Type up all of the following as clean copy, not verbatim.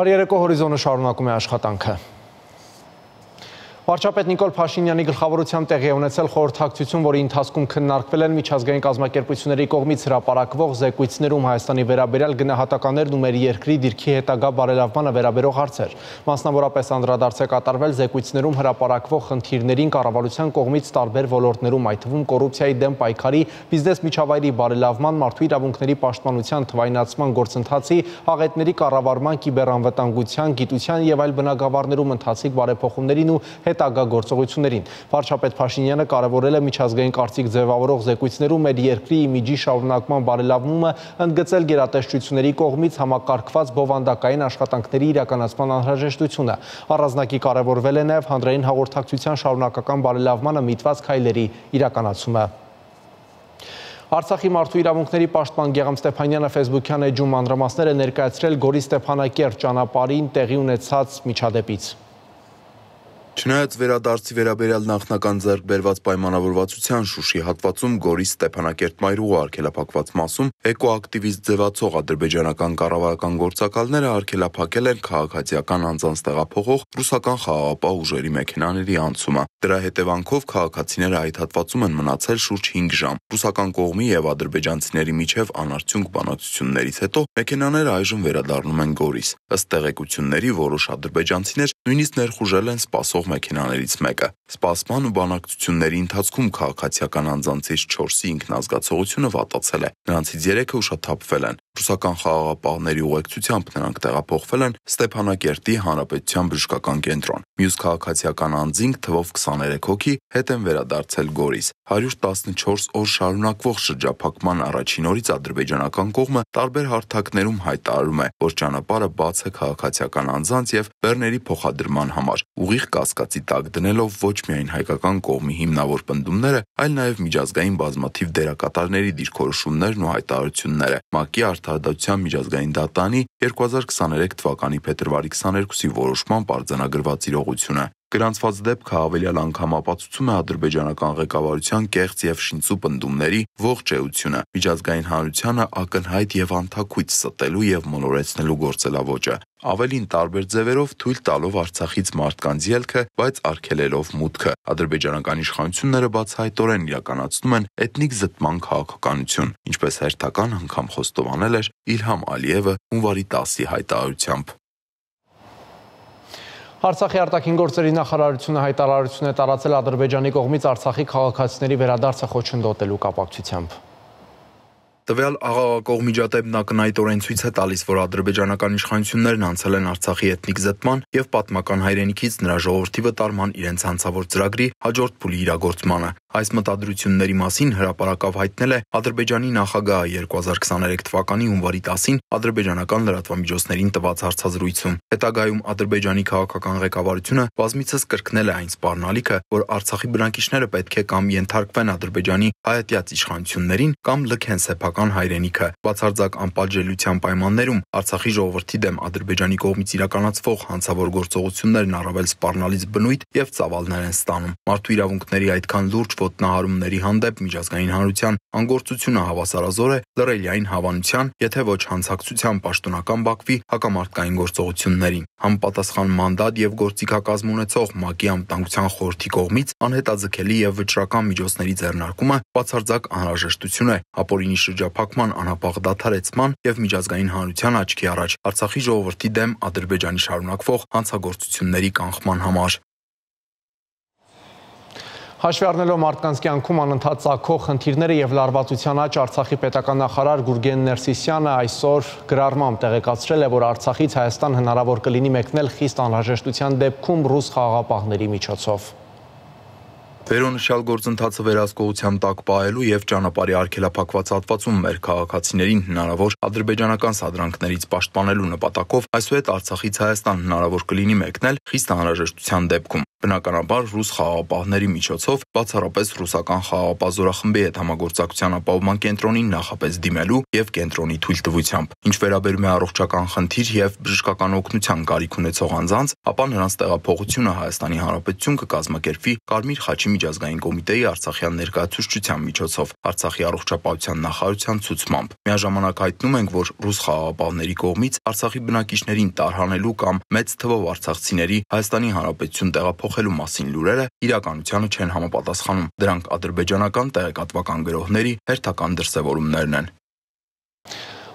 Բարի երեկո, Հորիզոնը շարունակում է աշխատանքը։ Վարչապետ Նիկոլ Փաշինյանի գլխավորությամբ տեղի է ունեցել խորհրդակցություն, որի ընթացքում քննարկվել են միջազգային կազմակերպությունների կողմից հրապարակվող զեկույցներում Հայաստանի վերաբերյալ գնահատականներն ու մեր երկրի դիրքի հետագա բարելավմանը վերաբերող հարցեր։ Մասնավորապես անդրադարձ է կատարվել զեկույցներում հրապարակվող խնդիրներին կառավարության կողմից տարբեր ոլորտներում, այդ թվում կոռուպցիայի դեմ պայքարի, բիզնես միջավայրի բարելավման, մարդու իրավունքների պաշտպանության թվայնացման գործընթացի, աղետների կառավարման, կիբեռանվտանգության, գիտության եւ այլ բնագավառներում ընթացիկ բարեփոխումներին ու հետագա գործողություններին։ Վարչապետ Փաշինյանը կարևորել է միջազգային կարծիք ձևավորող զեկույցներում մեր երկրի իմիջի շարունակման բարելավումը, ընդգծել գերատեսչությունների կողմից համակարգված բովանդակային աշխատանքների իրականացման անհրաժեշտությունը։ Առանձնակի կարևորվել է նաև հանրային հաղորդակցության շարունակական բարելավմանը միտված քայլերի իրականացումը։ Արցախի մարդու իրավունքների պաշտպան Գեղամ Ստեփանյանը Facebook-յան էջում մանրամասներ է ներկայացրել Գորի Ստեփանակերտ ճանապարհին տեղի ունեցած միջադեպից։ Չնայած վերադարձի վերաբերյալ նախնական ձեռքբերված պայմանավորվածության Շուշի հատվածում Գորի Ստեփանակերտ մայրուղու արգելափակված մասում էկոակտիվիստ ձևացող ադրբեջանական կառավարական գործակալները արգելափակել են քաղաքացիական անձանց տեղափոխող ռուսական խաղաղապահ ուժերի մեքենաների անցումը։ Դրա հետևանքով քաղաքացիները այդ հատվածում են մնացել շուրջ 5 ժամ։ Ռուսական կողմի եւ ադրբեջանցիների միջև անարդյունք բանակցություններից հետո մեքենաները այժմ վերադառնում են Գորիս։ Ըստ տեղեկությունների որոշ ադրբեջանցիներ նույնիսկ ներխուժել են սպասող մեքենաներից մեկը։ Սպասման ու բանակցությունների ընթացքում քաղաքացիական անձանցից 4-ի ինքնազգացողությունը վատացել է։ Նրանցից 3-ը ուշաթափվել են։ Ռուսական խաղաղապահների ուղեկցությամբ նրանք տեղափոխվել են Ստեփանակերտի Հանրապետության բժշկական կենտրոն։ Մյուս քաղաքացիական անձինք թվով 23 հոգի հետ են վերադարձել Գորիս։ 114 օր շարունակվող շրջափակման առաջին օրից ադրբեջանական կողմը տարբեր հարթակներում հայտարարում է, որ ճանապարհը բաց է քաղաքացիական անձանց եւ բեռների փոխադրման համար։ Ուղիղ կասկածի տակ դնելով ոչ միայն հայկական կողմի հիմնավոր պնդումները, այլ նաև միջազգային բազմաթիվ դերակատարների դիրքորոշումներն ու հայտարարությունները։ ՄԱԿ-ի Արդարադատության միջազգային դատարանի 2023 թվականի փետրվարի 22-ի որոշմամբ արձանագրված իրողությունը։ Գրանցված դեպքը հավելյալ անգամ ապացուցում է ադրբեջանական ղեկավարության կեղծ եւ շինծու պնդումների ողջ էությունը, միջազգային հանրությանը ակնհայտ եւ անթաքույց ստելու եւ մոլորեցնելու գործելավոճը։ Ավելին տարբեր ձևերով թույլ տալով Արցախից մարդկանց ելքը, բայց արգելելով մուտքը։ Ադրբեջանական իշխանությունները բացահայտորեն իրականացնում են էթնիկ զտման քաղաքականություն, ինչպես հերթական անգամ խոստովանել էր Իլհամ Ալիևը հունվարի 10-ի հայտարարությամբ։ Արցախի արտաքին գործերի նախարարությունը հայտարարություն է տարածել Ադրբեջանի կողմից Արցախի քաղաքացիների վերադարձը խոչընդոտելու կապակցությամբ։ Տվյալ աղաղակող միջադեպն ակնհայտորեն ցույց է տալիս, որ ադրբեջանական իշխանություններն անցել են Արցախի էթնիկ զտման եւ պատմական հայրենիքից նրա ժողովրդի վտարման իրենց հանցավոր ծրագրի հաջորդ փուլի իրագործմանը։ Այս մտադրությունների մասին հրապարակավ հայտնել է Ադրբեջանի նախագահը 2023 թվականի հունվարի 10-ին ադրբեջանական լրատվամիջոցներին տված հարցազրույցում։ Հետագայում Ադրբեջանի քաղաքական ղեկավարությունը բազմիցս կրկնել է այն սպառնալիքը, որ Արցախի բնակիչները պետք է կամ ենթարկվեն Ադրբեջանի հայատյաց իշխանություններին կամ լքեն սեփական հայրենիքը։ Բացարձակ անպատժելիության պայմաններում Արցախի ժողովրդի դեմ Ադրբեջանի կողմից իրականացվող հանցավոր գործողություններն առավել սպառնալից բնույթ եւ ծավալներ են ստանում։ Մարդու իրավունքների այդքան լուրջ ոտնահարումների հանդեպ միջազգային հանրության անգործությունը հավասարազոր է լռելիային հավանության, եթե ոչ հանցակցության պաշտոնական Բաքվի հակամարտկային գործողություններին։ Համապատասխան մանդատ եւ գործիքակազմ ունեցող ՄԱԿ-ի անվտանգության խորհրդի կողմից անհետաձգելի եւ վճռական միջոցների ձեռնարկումը բացարձակ անհրաժեշտություն է ապօրինի շրջափակման անհապաղ դադարեցման եւ միջազգային հանրության աչքի առաջ Արցախի ժողովրդի դեմ Ադրբեջանի շարունակվող հանցագործությունների կանխման համար։ Հաշվի առնելով մարդկանց կյանքում անընդհատ ծագող խնդիրները եւ լարվածության աճ, Արցախի պետական նախարար Գուրգեն Ներսիսյանը այսօր գրառմամբ տեղեկացրել է, որ Արցախից Հայաստան հնարավոր կլինի մեկնել խիստ անհրաժեշտության դեպքում ռուս խաղաղապահների միջոցով։ Վերոնշյալ գործընթացը վերահսկողության տակ պահելու եւ ճանապարհի արգելափակված հատվածում մեր քաղաքացիներին հնարավոր ադրբեջանական սադրանքներից պաշտպանելու նպատակով այսուհետ Արցախից Հայաստան հնարավոր կլինի մեկնել խիստ անհրաժեշտության դեպքում։ Բնականաբար ռուս խաղաղապահների միջոցով բացառապես ռուսական խաղաղապահ զորախմբի հետ համագործակցության ապահովման կենտրոնին նախապես դիմելու եւ կենտրոնի թույլտվությամբ։ Ինչ վերաբերում է առողջական խնդիր եւ բժշկական օգնության կարիք ունեցող անձանց, ապա նրանց տեղափոխությունը Հայաստանի Հանրապետություն կկազմակերպվի Կարմիր խաչի Դաշնությունների միջազգային կոմիտեի Արցախյան ներկայացուցչության միջոցով Արցախի առողջապահության նախարարության ցուցմամբ։ Միաժամանակ հայտնում ենք, որ ռուս խաղաղապահների կողմից Արցախի բնակիչներին տարհանելու կամ մեծ թվով արցախցիների Հայաստանի Հանրապետություն տեղափոխելու մասին լուրերը իրականությանը չեն համապատասխանում։ Դրանք ադրբեջանական տեղեկատվական գրողների հերթական դրսևորումներն են։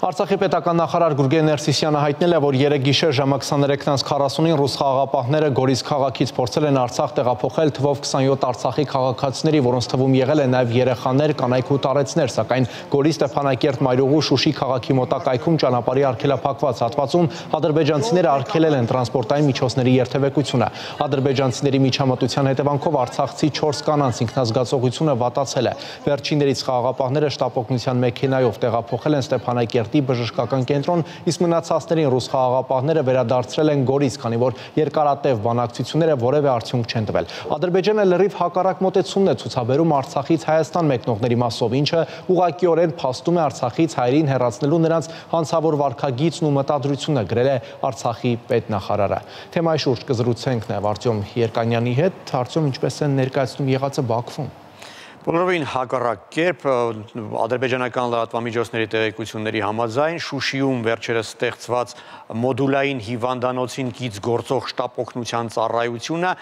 Արցախի պետական նախարար Գուրգեն Ներսիսյանը հայտնել է, որ երեկ գիշեր ժամը 23:40-ին ռուս խաղաղապահները Գորիս քաղաքից փորձել են Արցախ տեղափոխել թվով 27 Արցախի քաղաքացիների, որոնց թվում եղել են նաև երեխաներ, կանայք ու տարեցներ, սակայն Գորի Ստեփանակերտ Մայրուղու Շուշի քաղաքի մոտակայքում ճանապարհի արգելափակված հատվածում ադրբեջանցիները արգելել են տրանսպորտային միջոցների երթևեկությունը։ Ադրբեջանցիների միջամտության հետևանքով արցախցի 4 կանանց ինքնազգացողությունը վատացել է։ Վերջիններից խաղաղապահները շտապօգնության մեքենայով տեղափոխել են Ստեփանակերտ բժշկական կենտրոն, իսկ մնացածներին ռուս խաղաղապահները վերադարձրել են Գորիս, քանի որ երկարատև բանակցությունները որևէ արդյունք չեն տվել։ Ադրբեջանը լրիվ հակառակ մոտեցումն է ցուցաբերում Արցախից Հայաստան մեկնողների մասով, ինչը ուղղակիորեն փաստում է Արցախից հայերին հեռացնելու նրանց հանցավոր վարքագիծն ու մտադրությունը, գրել է Արցախի պետնախարարը։ Թեմայի շուրջ կզրուցենք նաև Արտյոմ Երկանյանի հետ։ Արտյոմ, ինչպես են ներկայացնում եղածը Բաքվում։ Բոլորովին հակառակ կերպ ադրբեջանական լրատվամիջոցների տեղեկությունների համաձայն Շուշիում վերջերս ստեղծված մոդուլային հիվանդանոցին կից գործող շտապօգնության ծառայությունը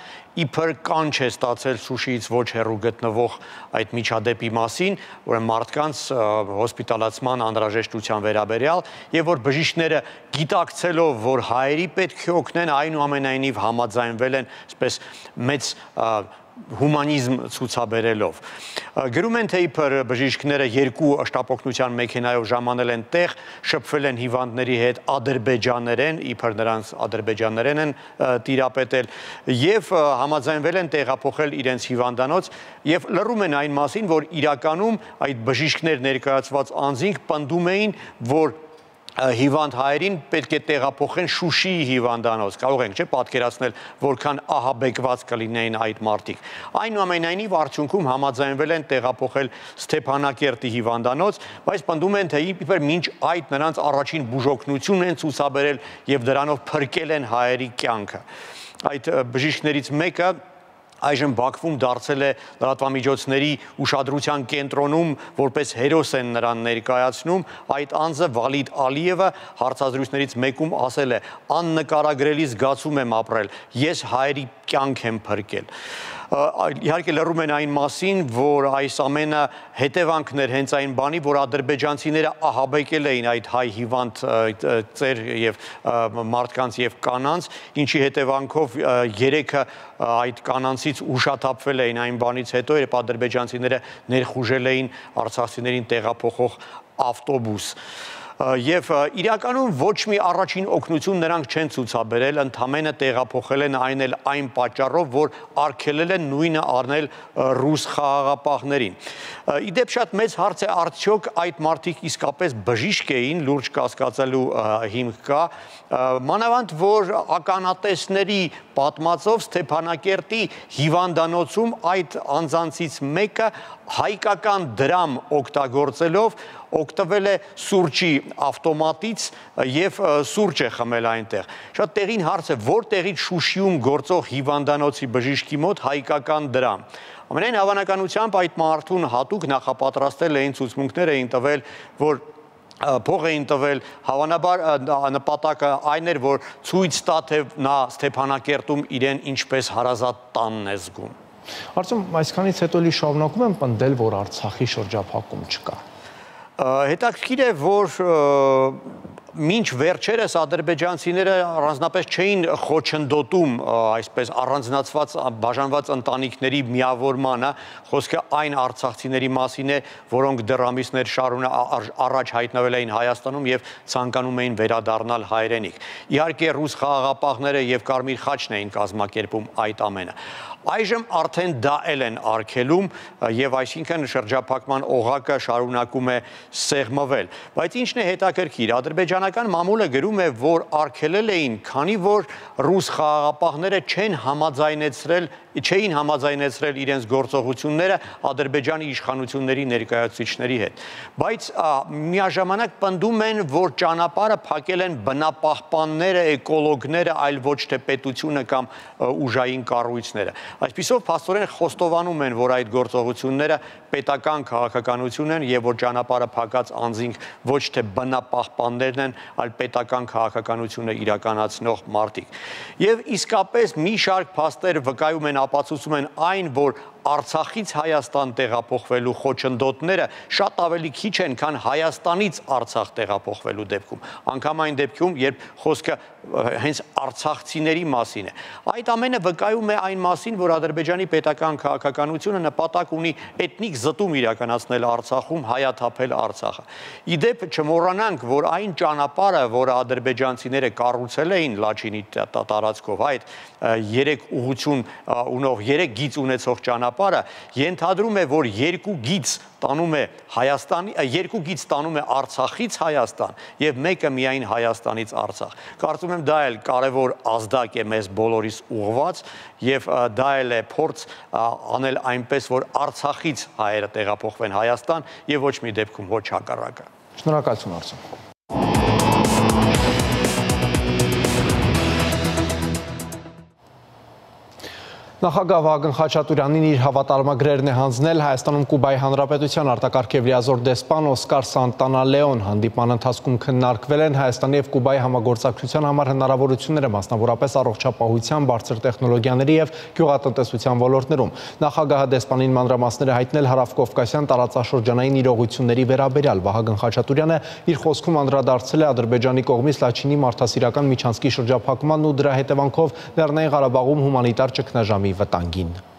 իբր կանչ է ստացել Շուշիից ոչ հեռու գտնվող այդ միջադեպի մասին, որ մարդկանց հոսպիտալացման անհրաժեշտության վերաբերյալ եւ որ բժիշկները գիտակցելով, որ հայերի պետք է օգնեն, այնուամենայնիվ համաձայնվել են, այսպես մեծ հումանիզմ ցուցաբերելով։ Գրում են, թե իբր բժիշկները 2 շտապօգնության մեքենայով ժամանել են տեղ, շփվել են հիվանդների հետ ադրբեջաներեն, իբր նրանց ադրբեջաներեն են տիրապետել եւ համաձայնվել են տեղափոխել իրենց հիվանդանոց եւ լռում են այն մասին, որ իրականում այդ բժիշկներ ներկայացված անձինք պնդում էին, որ հիվանդ հայերին պետք է տեղափոխեն Շուշիի հիվանդանոց, կարող ենք չէ պատկերացնել, որքան ահաբեկված կլինեին այդ մարդիկ։ Այնուամենայնիվ արդյունքում համաձայնվել են տեղափոխել Ստեփանակերտի հիվանդանոց, բայց պնդում են, թե իբր մինչ այդ նրանց առաջին բուժօգնություն են ցուցաբերել եւ դրանով փրկել են հայերի կյանքը։ Այդ բժիշկներից մեկը այժմ Բաքվում դարձել է լրատվամիջոցների ուշադրության կենտրոնում, որպես հերոս են նրան ներկայացնում, այդ անձը Վալիդ Ալիևը հարցազրույցներից մեկում ասել է. «Աննկարագրելի զգացում եմ ապրել, ես հայերի կյանք եմ փրկել»։ Իհարկե լռում են այն մասին, որ այս ամենը հետևանքն էր հենց այն բանի, որ ադրբեջանցիները ահաբեկել էին այդ հայ հիվանդ ծեր եւ մարդկանց եւ կանանց, ինչի հետևանքով 3-ը այդ կանանցից ուշաթափվել էին այն բանից հետո, երբ ադրբեջանցիները ներխուժել էին արցախցիներին տեղափոխող ավտոբուս։ Եվ իրականում ոչ մի առաջին օգնություն նրանք չեն ցուցաբերել, ընդամենը տեղափոխել են այն պատճառով, որ արգելել են նույնը առնել ռուս խաղաղապահներին։ Իդեպ շատ մեծ հարց է, արդյոք այդ մարդիկ իսկապես բժիշկ էին, լուրջ կասկածելու հիմք կա, մանավանդ որ ականատեսների պատմածով Ստեփանակերտի հիվանդանոցում այդ անձանցից մեկը հայկական դրամ օգտագործելով օգտվել է սուրճի ավտոմատից եւ սուրճ է խմել այնտեղ։ Շատ տեղին հարց է, որտեղից Շուշիում գործող հիվանդանոցի բժիշկի մոտ հայկական դրամ։ Ամենայն հավանականությամբ այդ մարդուն հատուկ նախապատրաստել էին, ցուցմունքներ էին տվել, որ փող էին տվել, հավանաբար նպատակը այն էր, որ ցույց տա, թե նա Ստեփանակերտում իրեն ինչպես հարազատ տանն է զգում։ Արդյոք այսքանից հետո էլի շարունակում են պնդել, որ Արցախի շրջափակում չկա։ Հետաքրքիր է, որ մինչ վերջերս ադրբեջանցիները առանձնապես չէին խոչընդոտում այսպես առանձնացված բաժանված ընտանիքների միավորմանը, խոսքը այն արցախցիների մասին է, որոնք դեռ ամիսներ առաջ հայտնվել էին Հայաստանում եւ ցանկանում էին վերադառնալ հայրենիք։ Իհարկե ռուս խաղաղապահները եւ Կարմիր խաչն էին կազմակերպում այդ ամենը։ Այժմ արդեն դա են արգելում եւ այսինքն շրջափակման օղակը շարունակում է սեղմվել։ Բայց ինչն է հետաքրքիր, Ադրբեջանը ադրբեջանական մամուլը գրում է, որ արգելել էին, քանի որ ռուս խաղաղապահները չէին համաձայնեցրել իրենց գործողությունները Ադրբեջանի իշխանությունների ներկայացուցիչների հետ։ Բայց միաժամանակ պնդում են, որ ճանապարհը փակել են բնապահպանները, էկոլոգները, այլ ոչ թե պետությունը կամ ուժային կառույցները։ Այսպիսով փաստորեն խոստովանում են, որ այդ գործողությունները պետական քաղաքականություն են եւ որ ճանապարհը փակած անձինք ոչ թե բնապահպաններն են, այլ պետական քաղաքականությունը իրականացնող մարդիկ։ Եվ իսկապես մի շարք փաստեր վկայում են, ապացուցում են այն, որ Արցախից Հայաստան տեղափոխվելու խոչընդոտները շատ ավելի քիչ են, քան Հայաստանից Արցախ տեղափոխվելու դեպքում։ Անգամ այն դեպքում, երբ խոսքը հենց արցախցիների մասին է։ Այդ ամենը վկայում է այն մասին, որ Ադրբեջանի պետական քաղաքականությունը նպատակ ունի էթնիկ զտում իրականացնել Արցախում, հայաթափել Արցախը։ Իդեպ չմոռանանք, որ այն ճանապարհը, որը ադրբեջանցիները կառուցել էին Լաչինի տարածքով, այդ 3 ուղղություն ունող 3 գիծ ունեցող ճանապարհը ենթադրում է, որ 2 գիծ տանում է Արցախից Հայաստան եւ մեկը միայն Հայաստանից Արցախ։ Կարծում եմ դա էլ կարևոր ազդակ է մեզ բոլորիս ուղղված եւ դա էլ է փորձ անել այնպես, որ Արցախից հայերը տեղափոխվեն Հայաստան եւ ոչ մի դեպքում ոչ հակառակը։ Շնորհակալություն Արսեն։ Նախագահ Վահագն Խաչատուրյանին իր հավատարմագրերն է հանձնել Հայաստանում Կուբայի Հանրապետության արտակարգ եւ լիազոր դեսպան Օսկար Սանտանալեոն։ Հանդիպման ընթացքում քննարկվել են Հայաստանի եւ Կուբայի համագործակցության համար հնարավորությունները, մասնավորապես առողջապահության, բարձր տեխնոլոգիաների եւ գյուղատնտեսության ոլորտներում։ Նախագահը դեսպանին մանրամասները հայտնել հարավկովկասյան տարածաշրջանային իրողությունների վերաբերյալ։ Վահագն Խաչատուրյանը իր խոսքում անդրադարձել է Ադրբեջանի կողմից Լաչինի մարդասիրական միջանցքի շրջափակմանն ու դրա հետևանքով Լեռնային Ղարաբաղում հումանիտար ճգնաժամի վտանգին։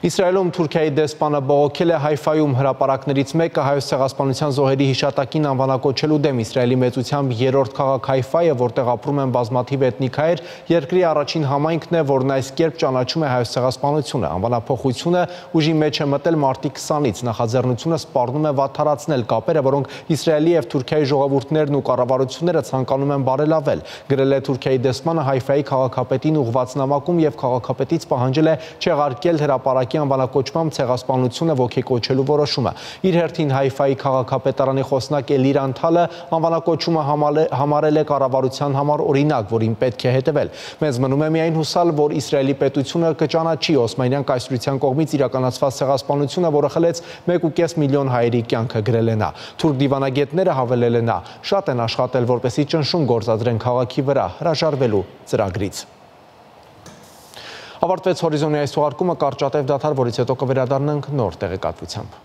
Իսրայելում Թուրքիայի դեսպանը բողոքել է Հայֆայում հրապարակներից մեկը Հայոց ցեղասպանության զոհերի հիշատակին անվանակոչելու դեմ։ Իսրայելի մեծությամբ 3-րդ քաղաք Հայֆայը, որտեղ ապրում են բազմաթիվ էթնիկ հայեր, երկրի առաջին համայնքն է, որն այս կերպ ճանաչում է Հայոց ցեղասպանությունը։ Անվանափոխությունը ուժի մեջ է մտել մարտի 20-ից։ Նախաձեռնությունը սպառնում է վատթարացնել կապերը, որոնք Իսրայելի եւ Թուրքիայի ժողովուրդներն ու կառավարությունները ցանկանում են բարելավել։ Գրել է Թուրքիայի դեսպանը Հայֆայի քաղաքապետին ուղղված նամակում եւ քաղաքապետից պահանջել է չեղարկել հրապարակի անվանակոչմամբ ցեղասպանությունը ոգեկոչելու որոշումը։ Իր հերթին Հայֆայի քաղաքապետարանի խոսնակ Էլիր Անթալը անվանակոչումը համարել է կառավարության համար օրինակ, որին պետք է հետևել։ Մեզ մնում է միայն հուսալ, որ Իսրայելի պետությունը կճանաչի Օսմանյան կայսրության կողմից իրականացված ցեղասպանությունը, որը խլեց 1.5 միլիոն հայերի կյանքը, գրել է նա։ Թուրք դիվանագետները, հավելել է նա, շատ են աշխատել, որպեսզի ճնշում գործադրեն քաղաքի վրա հրաժարվելու ծրագրից։ Ավարտվեց Հորիզոնի այս թողարկումը, կարճատև դադար, որից հետո կվերադառնանք նոր տեղեկատվությամբ։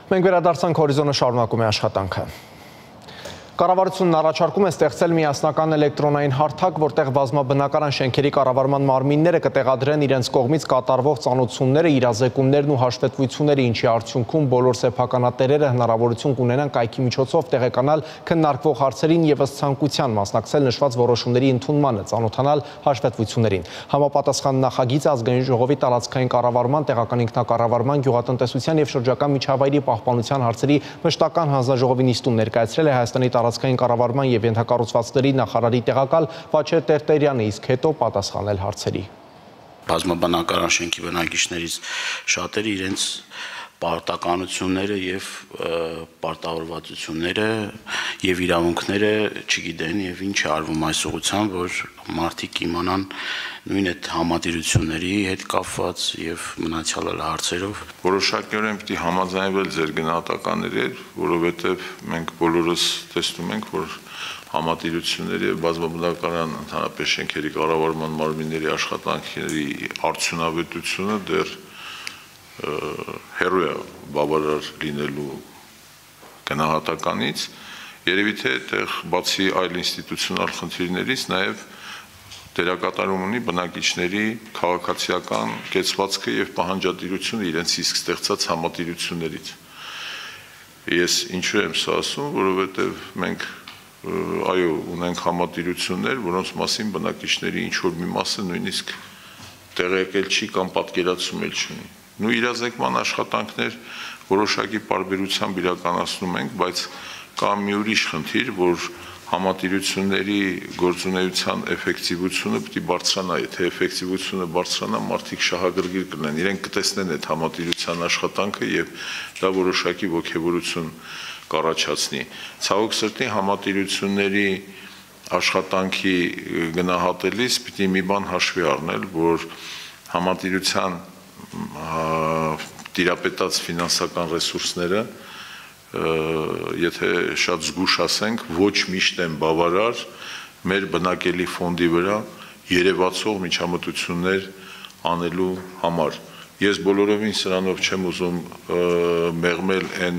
Մենք վերադարձանք հորիզոնը շարունակում է աշխատանքը։ Կառավարությունն առաջարկում է ստեղծել միասնական էլեկտրոնային հարթակ, որտեղ բազմաբնակարան շենքերի կառավարման մարմինները կտեղադրեն իրենց կողմից կատարվող ծանոթությունները, իրազեկումներն ու հաշվետվությունները, ինչի արդյունքում բոլոր սեփականատերերը հնարավորություն կունենան կայքի միջոցով տեղեկանալ քննարկվող հարցերին եւ ըստ ցանկության մասնակցել նշված որոշումների ընդունմանը, ծանոթանալ հաշվետվություններին։ Համապատասխան նախագիծը ազգային ժողովի տարածքային կառավարման, տեղական ինքնակառավարման, գյուղատնտեսության եւ շրջակա միջավայրի պահպանության հարցերի մշտական հանձնաժողովի նիստում ներկայացրել է Հայաստանի տարածքային կառավարման եւ ենթակառուցվածքների նախարարի տեղակալ Վաչե Տերտերյանը, իսկ հետո պատասխանել հարցերի։ Բազմաբնակարան շենքի բնակիչներից շատերը իրենց պարտականությունները եւ պարտավորվածությունները եւ իրավունքները չգիտեն եւ ինչ է արվում այս ուղղությամբ, որ մարդիկ իմանան նույն այդ համատիրությունների հետ կապված եւ մնացյալ հարցերով։ Որոշակիորեն պիտի համաձայնվել ձեր գնահատականների, որովհետեւ մենք բոլորս տեսնում ենք, որ համատիրությունների եւ բազմաբնակարան ընդհանրապես շենքերի կառավարման մարմինների աշխատանքների արդյունավետությունը դեռ հերոյ բավարար լինելու գնահատականից, երևի թե այդտեղ բացի այլ ինստիտուցիոնալ խնդիրներից նաև դերակատարում ունի բնակիչների քաղաքացիական կեցվածքը եւ պահանջատիրությունը իրենց իսկ ստեղծած համատիրություններից։ Ես ինչու եմ սա ասում, որովհետեւ մենք այո, ունենք համատիրություններ, որոնց մասին բնակիչների ինչ որ մի մասը նույնիսկ տեղեկել չի կամ պատկերացում չունի։ Նու իրազեկման աշխատանքներ որոշակի պարբերությամբ իրականացնում ենք, բայց կա մի ուրիշ խնդիր, որ համատիրությունների գործունեության էֆեկտիվությունը պիտի բարձրանա, եթե էֆեկտիվությունը բարձրանա, մարդիկ շահագրգիռ կլինեն, իրենք կտեսնեն այդ համատիրության աշխատանքը եւ դա որոշակի ոգևորություն կառաջացնի։ Ցավոք սրտի համատիրությունների աշխատանքի գնահատելիս պիտի մի բան հաշվի առնել, որ համատիրության տիրապետած ֆինանսական ռեսուրսները, եթե շատ զգուշ ասենք, ոչ միշտ են բավարար մեր բնակելի ֆոնդի վրա երևացող միջամտություններ անելու համար։ Ես բոլորովին սրանով չեմ ուզում մեղմել այն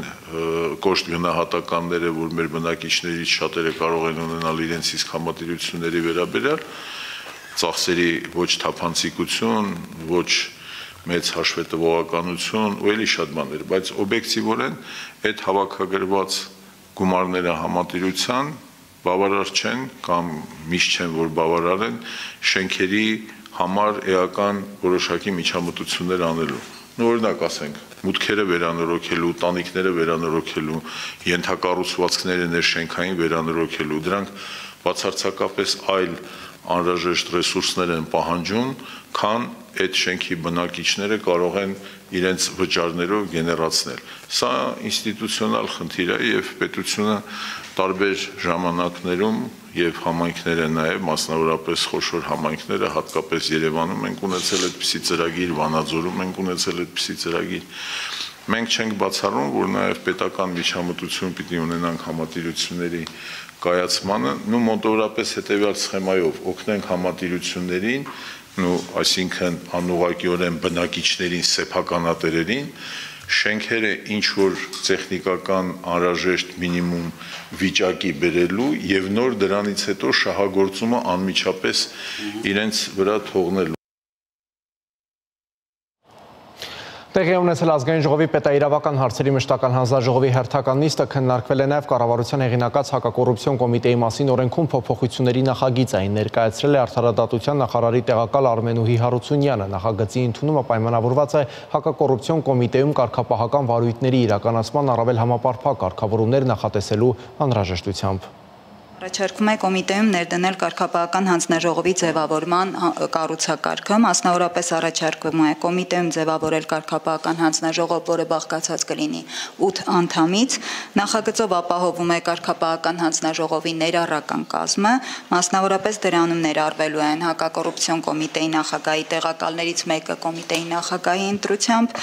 կոշտ գնահատականները, որ մեր բնակիչներից շատերը կարող են ունենալ իրենց իսկ համատիրությունների վերաբերյալ, ծախսերի ոչ թափանցիկություն, ոչ մեծ հաշվետվողականություն ու էլի շատ բաներ, բայց օբյեկտիվորեն այդ հավաքագրված գումարները համատիրության բավարար չեն կամ միշտ չեն, որ բավարար են շենքերի համար էական որոշակի միջամտություններ անելու։ Օրինակ ասենք, մուտքերը վերանորոգելու, տանիքները վերանորոգելու, ենթակառուցվածքները ներշենքային վերանորոգելու, դրանք բացարձակապես այլ անհրաժեշտ ռեսուրսներ են պահանջում, քան այդ շենքի բնակիչները կարող են իրենց վճարներով գեներացնել։ Սա ինստիտուցիոնալ խնդիր է եւ պետությունը տարբեր ժամանակներում եւ համայնքները նաեւ մասնավորապես խոշոր համայնքները, հատկապես Երևանում ենք ունեցել այդպիսի ծրագիր, Վանաձորում ենք ունեցել այդպիսի ծրագիր։ Մենք չենք բացառում, որ նաեւ պետական միջամտություն պիտի ունենանք համատիրությունների կայացմանը, նու մոտավորապես հետեւյալ սխեմայով օգնենք համատիրություններին, այսինքն անուղղակիորեն բնակիչներին, սեփականատերերին, շենքերը ինչ որ տեխնիկական անհրաժեշտ մինիմում վիճակի բերելու եւ նոր դրանից հետո շահագործումը անմիջապես իրենց վրա թողնելու։ Տեղի ունեցել ազգային ժողովի պետաիրավական հարցերի մշտական հանձնաժողովի հերթական նիստը քննարկվել է նաև կառավարության հեղինակած հակակոռուպցիոն կոմիտեի մասին օրենքում փոփոխությունների նախագիծային ներկայացրել է Արդարադատության նախարարի տեղակալ Արմենուհի Հարությունյանը։ Նախագծի ընդունումը պայմանավորված է հակակոռուպցիոն կոմիտեում կարգապահական վարույթների իրականացման առավել համապարփակ կարգավորումներ նախատեսելու անհրաժեշտությամբ։ Առաջարկվում է կոմիտեում ներդնել կարգապահական հանձնաժողովի ձևավորման կառուցակարգը, մասնավորապես առաջարկվում է կոմիտեում ձևավորել կարգապահական հանձնաժողով, որը բաղկացած կլինի 8 անդամից, նախագծով ապահովում է կարգապահական հանձնաժողովի ներառական կազմը, մասնավորապես դրանում ներառվելու են հակակոռուպցիոն կոմիտեի նախագահի տեղակալներից մեկը կոմիտեի նախագահի ընտրությամբ,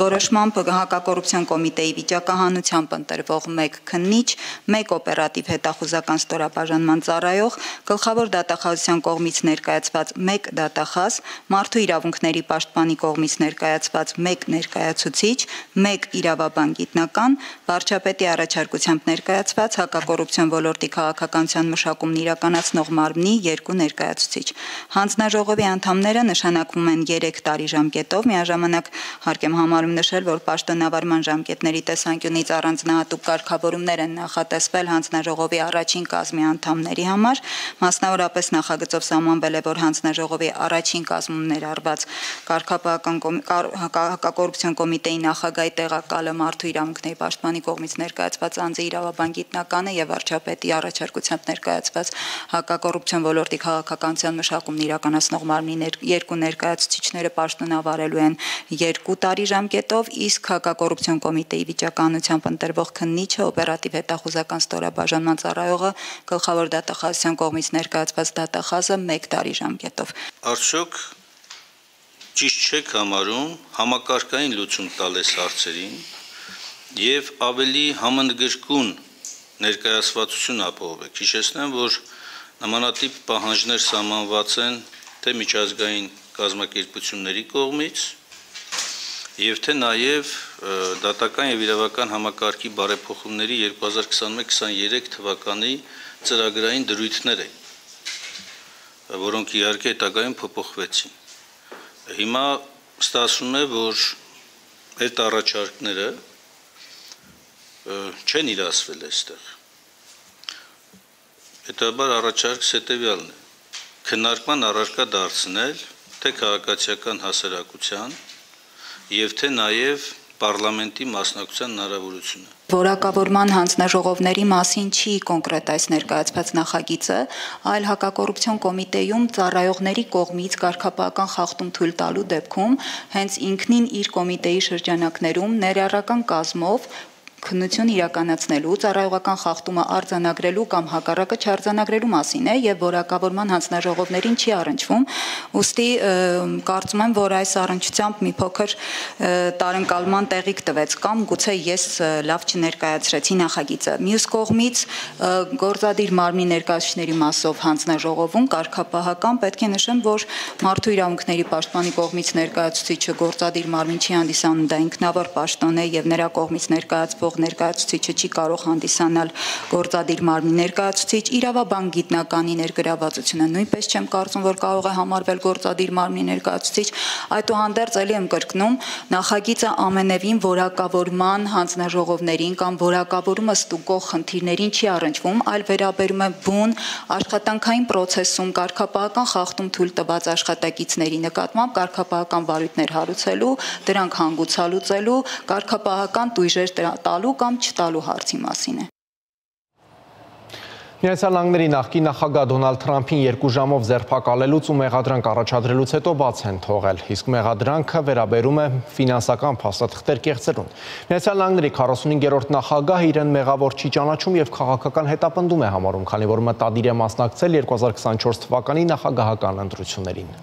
որոշմամբ հակակոռուպցիոն կոմիտեի վիճակահանությամբ ընտրվող 1 քննիչ, 1 օպերատիվ հետախուզական ստորագրող ստորաբաժանման ծառայող, գլխավոր դատախազության կողմից ներկայացված 1 դատախազ, մարդու իրավունքների պաշտպանի կողմից ներկայացված 1 ներկայացուցիչ, 1 իրավաբան գիտնական, վարչապետի առաջարկությամբ ներկայացված հակակոռուպցիոն ոլորտի քաղաքականության մշակումն իրականացնող մարմնի 2 ներկայացուցիչ։ Հանձնաժողովի անդամները նշանակվում են 3 տարի ժամկետով, միաժամանակ հարկ եմ համարում նշել, որ պաշտոնավարման ժամկետների տեսանկյունից առանձնահատուկ կարգավորումներ են նախատեսվել հանձնաժողովի առաջին կազմի անդամների համար, մասնավորապես նախագծով սահմանվել է, որ հանձնաժողովի առաջին կազմում ներառված հակակոռուպցիոն կոմիտեի նախագահի տեղակալը մարդու իրավունքների պաշտպանի կողմից ներկայացված անձի իրավաբան գիտնականը եւ վարչապետի առաջարկությամբ ներկայացված հակակոռուպցիոն ոլորտի քաղաքականության մշակումն իրականացնող մարմնի 2 ներկայացուցիչները պաշտոնավարելու են 2 տարի ժամկետով, իսկ հակակոռուպցիոն կոմիտեի վիճականությամբ ընտրվող քննիչը օպերատիվ հետախուզական ստորաբաժանման ծառայողը գլխավոր դատախազության կողմից ներկայացված դատախազը 1 տարի ժամկետով։ Արդյոք ճիշտ չեք համարում համակարգային լուծում տալ այս հարցերին եւ ավելի համընդգրկուն ներկայացվածություն ապահովեք։ Հիշեցնեմ, որ նմանատիպ պահանջներ սահմանված են թե միջազգային կազմակերպությունների կողմից եւ թե նաեւ դատական եւ իրավական համակարգի բարեփոխումների 2021-23 թվականի ծրագրային դրույթներ են, որոնք իհարկե հետագայում փոփոխվեցին։ Հիմա ստացվում է, որ այդ առաջարկները չեն իրացվել այստեղ։ Հետաբար առաջարկս հետևյալն է. քննարկման առարկա դարձնել թե քաղաքացիական հասարակության եւ թե նաեւ պարլամենտի մասնակցության հնարավորությունը։ Որակավորման հանձնաժողովների մասին չի կոնկրետ այս ներկայացված նախագիծը, այլ հակակոռուպցիոն կոմիտեում ծառայողների կողմից կարգապահական խախտում թույլ տալու դեպքում հենց ինքնին իր կոմիտեի շրջանակներում ներառական կազմով քննություն իրականացնելու, ծառայողական խախտումը արձանագրելու կամ հակառակը չարձանագրելու մասին է եւ որակավորման հանձնաժողովներին չի առնչվում, ուստի կարծում եմ, որ այս առնչությամբ մի փոքր տարընկալման տեղիք տվեց կամ գուցե ես լավ չներկայացրեցի նախագիծը։ Մյուս կողմից գործադիր մարմնի ներկայացուցիչների մասով հանձնաժողովում կարգապահական պետք է նշեմ, որ մարդու իրավունքների պաշտպանի կողմից ներկայացուցիչը գործադիր մարմին չի հանդիսանում, դա ինքնավոր պաշտոն է եւ նրա կողմից ներկայացվող ներկայացուցիչը չի կարող հանդիսանալ գործադիր մարմնի ներկայացուցիչ, իրավաբան գիտնականի ներգրավվածությունը նույնպես չեմ կարծում, որ կարող է համարվել գործադիր մարմնի ներկայացուցիչ, այդուհանդերձ ելի եմ կրկնում, նախագիծը ամենևին որակավորման հանձնաժողովներին կամ որակավորումը ստուգող խնդիրներին չի առնչվում, այլ վերաբերում է բուն աշխատանքային process-ում կարգապահական խախտում թույլ տված աշխատակիցների նկատմամբ կարգապահական վարույթներ հարուցելու, դրանք հանգուցալուծելու, կարգապահական տույժեր տալու կամ չտալու հարցի մասին է։ Միացյալ Նահանգների նախկին նախագահ Դոնալդ Թրամփին 2 ժամով ձերբակալելուց ու մեղադրանք առաջադրելուց հետո բաց են թողել, իսկ մեղադրանքը վերաբերում է ֆինանսական փաստաթղթեր կեղծելուն։ Միացյալ Նահանգների 45-րդ նախագահը իրեն մեղավոր չի ճանաչում եւ քաղաքական հետապնդում է համարում, քանի որ մտադիր է մասնակցել 2024 թվականի նախագահական ընտրություններին։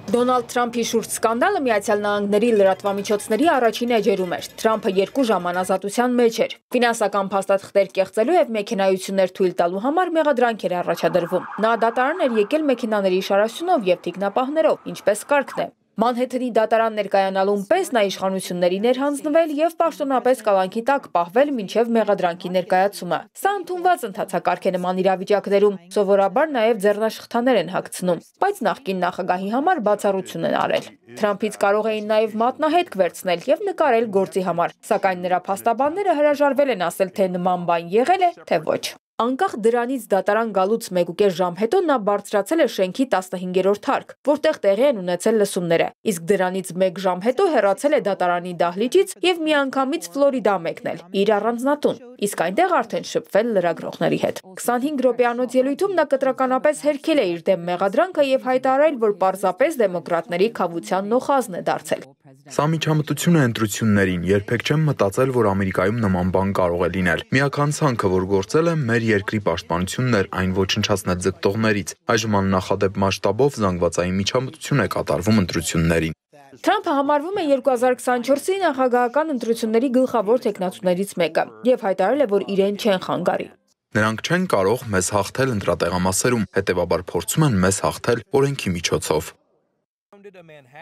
Դոնալդ Թրամփի շուրջ սկանդալը Միացյալ Նահանգների լրատվամիջոցների առաջին էջերում էր։ Թրամփը 2 ժամ անազատության մեջ էր։ Ֆինանսական փաստաթղթեր կեղծելու եւ մեքենայություններ թույլ տալու համար մեղադրանք էր առաջադրվում։ Նա դատարան էր եկել մեքենաների շարաշունով եւ թիկնապահներով, ինչպես կարգն է։ Մանհեթենի դատարան ներկայանալուն պես նա իշխանություններին էր հանձնվել եւ պաշտոնապես կալանքի տակ պահվել մինչեւ մեղադրանքի ներկայացումը։ Սա ընդունված ընթացակարգ է նման իրավիճակներում, սովորաբար նաեւ ձեռնաշխտաներ են հագցնում, բայց նախկին նախագահի համար բացառություն են արել։ Թրամփից կարող էին նաեւ մատնահետք վերցնել եւ նկարել գործի համար, սակայն նրա փաստաբանները հրաժարվել են ասել, թե նման բան եղել է, թե ոչ։ Անկախ դրանից դատարան գալուց 1.5 ժամ հետո նա բարձրացել է շենքի 15-րդ հարկ, որտեղ տեղի են ունեցել լսումները, իսկ դրանից 1 ժամ հետո հեռացել է դատարանի դահլիճից եւ միանգամից Ֆլորիդա մեկնել իր առանձնատուն, իսկ այնտեղ արդեն շփվել լրագրողների հետ։ 25 րոպեանոց ելույթում նա կտրականապես հերքել է իր դեմ մեղադրանքը եւ հայտարարել, որ պարզապես դեմոկրատների քավության նոխազն է դարձել։ Սա միջամտություն է ընտրություններին, երբեք չեմ մտածել, որ Ամերիկայում նման բան կարող է լինել։ Միակ ցանքը, որ գործել է, մեր երկրի պաշտպանությունն էր, այն ոչնչացնել ձգտողներից։ Այժմ աննախադեպ մասշտաբով զանգվածային միջամտություն է կատարվում ընտրություններին։ Թրամփը համարվում է 2024-ի նախագահական ընտրությունների գլխավոր թեկնածուներից մեկը եւ հայտարարել է, որ իրեն չեն խանգարի։ Նրանք չեն կարող մեզ հաղթել ընտրատեղամասերում, հետևաբար փորձում են մեզ հաղթել օրենքի միջոցով։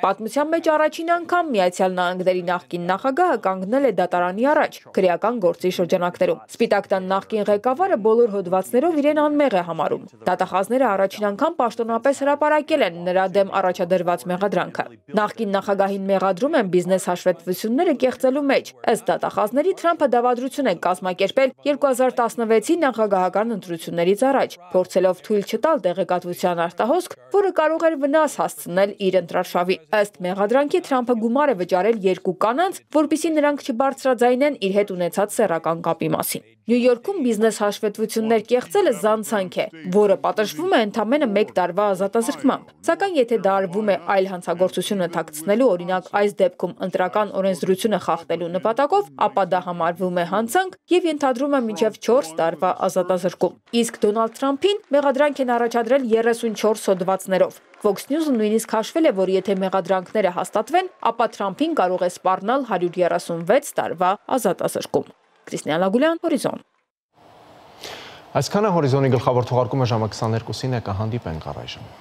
Պատմության մեջ առաջին անգամ Միացյալ Նահանգների նախկին նախագահը կանգնել է դատարանի առաջ քրեական գործի շրջանակներում։ Սպիտակ տան նախկին ղեկավարը բոլոր հոդվածներով իրեն անմեղ է համարում։ Դատախազները առաջին անգամ պաշտոնապես հրապարակել են նրա դեմ առաջադրված մեղադրանքը։ Նախկին նախագահին մեղադրում են բիզնես հաշվետվությունները կեղծելու մեջ։ Ըստ դատախազների Թրամփը դավադրություն է կազմակերպել 2016-ի նախագահական ընտրություններից առաջ, փորձելով թույլ չտալ տեղեկատվության արտահոսք, որը կարող էր վնաս հասցնել իր ընտրարշավի։ Ըստ մեղադրանքի Թրամփը գումար է վճարել 2 կանանց, որպեսզի նրանք չբարձրաձայնեն իր հետ ունեցած սեռական կապի մասին։ Նյու Յորքում բիզնես հաշվետվություններ կեղծելը զանցանք է, որը պատժվում է ընդամենը 1 տարվա ազատազրկմամբ։ Սակայն եթե դա արվում է այլ հանցագործությունը թաքցնելու, օրինակ այս դեպքում ընտրական օրենսդրությունը խախտելու նպատակով, ապա դա համարվում է հանցանք եւ ենթադրում է մինչեւ 4 տարվա ազատազրկում։ Իսկ Դոնալդ Թրամփին մեղադրանք են առաջադրել 34 հոդվածներով։ Fox News-ը նույնիսկ հաշվել է, որ եթե մեղադրանքները հաստատվեն, ապա Թրամփին կարող է սպառնալ 136 տարվա ազատազրկում։ Կրիստիան Լագուլյան, Հորիզոն։ Այսքանը Հորիզոնի գլխավոր թողարկումը ժամը 22-ին է, կհանդիպենք առայժմ։